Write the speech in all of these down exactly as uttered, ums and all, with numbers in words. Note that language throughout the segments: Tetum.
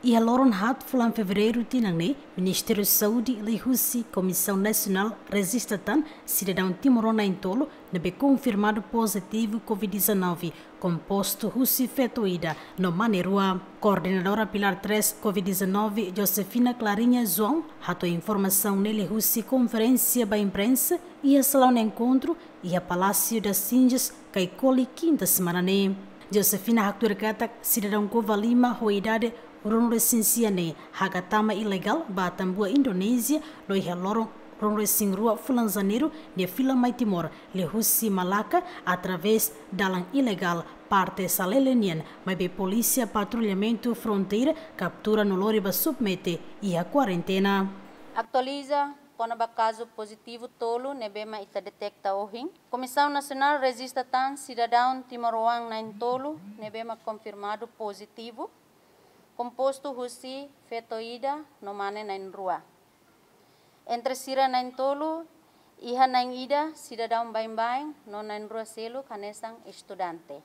Iha loron haat fulan Fevereiru tinan ne'e, Ministériu Saúde liuhusi Komisaun Nasionál rejista tan sidadaun timoroan na'in-tolu ne'ebé konfirmadu pozitivu COVID dezanove, kompostu husi feto ida no mane rua. Koordenadora Pilar três COVID dezanove, Josefina Clarinha João, hato'o informasaun ne'e liuhusi konferénsia ba imprensa iha salaun enkontru iha Palácio das Cinzas, Caicoli, kinta semana ne'e. Josefina haktuir katak sidadaun Covalima ho idade ruanulu-resin-sia ne'e hakat tama ilegál ba Atambua, Indonézia, no iha loron ruanulu-resin-rua fulan Janeiru nia fila mai Timor liuhusi Malaka através dalan ilegál parte Salele nian, maibé Polísia Patrullamentu Fronteira kaptura no lori ba submete iha kuarentena. Atualiza kona-ba kazu pozitivu tolu ne'ebé mak ita deteta ohin. Komisaun Nasionál rejista tan sidadaun timoroan na'in-tolu ne'ebé mak konfirmadu pozitivu, kompostu husi feto ida no mane na'in-rua. Entre sira na'in-tolu, iha na'in-ida sidadaun baibain no na'in-rua seluk hanesan estudante.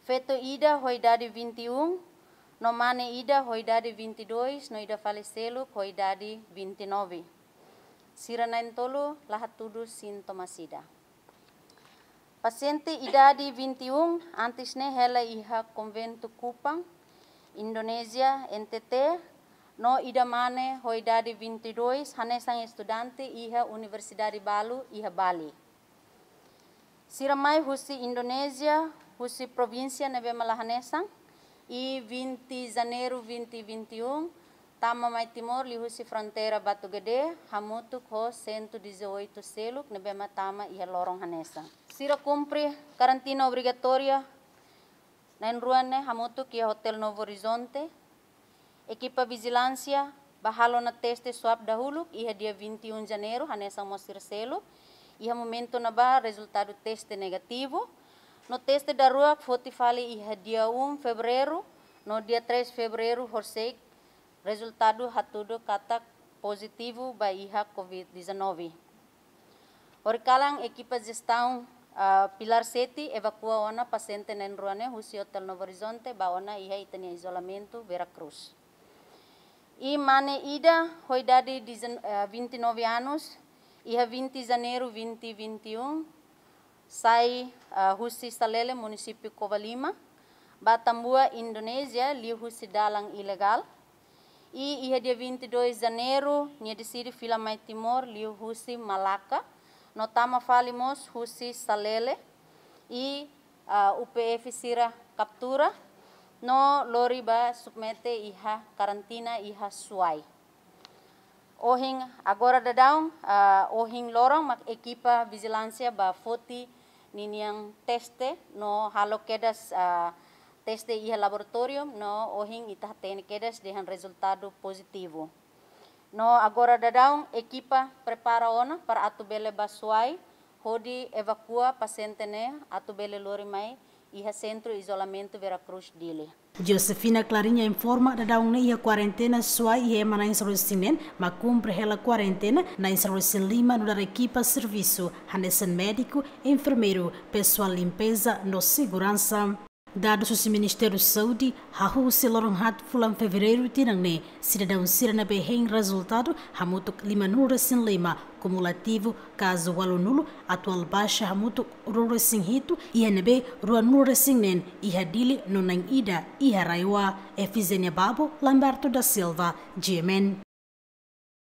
Feto ida ho idade vinte e um, no mane ida ho idade vinte e dois, no ida fali seluk ho idade vinte e nove. Sira na'in-tolu la hatudu sintomas ida. Pasiente idade vinte e um antes ne'e hela iha konventu Kupang, Indonézia, N T T, no ida mane ho idade vinte e dois hanesan estudante iha universidade balu iha Bali. Sira mai husi Indonézia, husi provínsia ne'ebé mak la hanesan, iha vinte Janeiru vinte vinte e um, tama mai Timor liuhusi fronteira Batu Gedé, hamutuk ho cento e dezoito seluk ne'ebé mak tama iha loron hanesan. Sira kumpre karantina obrigatória na'in-rua ne'e hamutuk iha Hotel Novo Horizonte. Ekipa vijilánsia bá halo ona teste swab dahuluk iha dia vinte e um Janeiru, hanesan mós sira seluk. Iha momentu ne'ebá rezultadu teste negativu. No teste daruak foti fali iha dia um Fevereiru, no dia três Fevereiru horisehik rezultadu hatudu katak pozitivu ba iha COVID dezanove. Horikalan ekipa jestaun, ah, Pilar sete evakua ona pasiente na'in-rua ne'e husi Hotel Novo Horizonte bá ona iha ita-nia izolamentu Vera Cruz. Iha mane ida ho idade dezen-, ah, vinte e nove anos, iha vinte Janeiru vinte vinte e um, sai, ah, husi Salele, munisípiu Covalima, bá Atambua, Indonézia, liuhusi dalan ilegál. I iha dia vinte e dois Janeiru, nia deside fila mai Timor liuhusi Malaka, no tama fali mós husi Salele, i, ah, U P F sira kaptura, no lori bá submete iha karantina iha Suai. Ohin agora daudaun, ah, ohin loron mak ekipa vijilánsia bá foti ninian teste no halo kedas, ah, teste iha laboratóriu no ohin ita hatene kedas dehan rezultadu pozitivu. No agora daudaun ekipa prepara ona para atu bele bá Suai, hodi evakua pasiente ne'e atu bele lori mai iha Sentru Izolamentu Vera Cruz Dili. Josefina Clarinha informa daudaun ne'e iha kuarentena Suai iha ema na'in sanulu-resin-neen, mak kumpre hela kuarentena na'in sanulu-resin-lima nu'udar ekipa servisu, hanesan médiku, enfermeiru, pesoál limpeza no seguransa. Dadus husi Ministériu Saúde, hahú husi loron haat fulan Fevereiru tinan ne'e, sidadaun sira ne'ebé hein rezultadu hamutuk limanulu-resin-lima, kumulativu kazu ualunulu, atuál baixa hamutuk ruanulu-resin-hitu, iha ne'ebé ruanulu-resin-neen iha Dili no na'in-ida iha RAEOA. Efizénia Babo, Lamberto da Silva, G M N.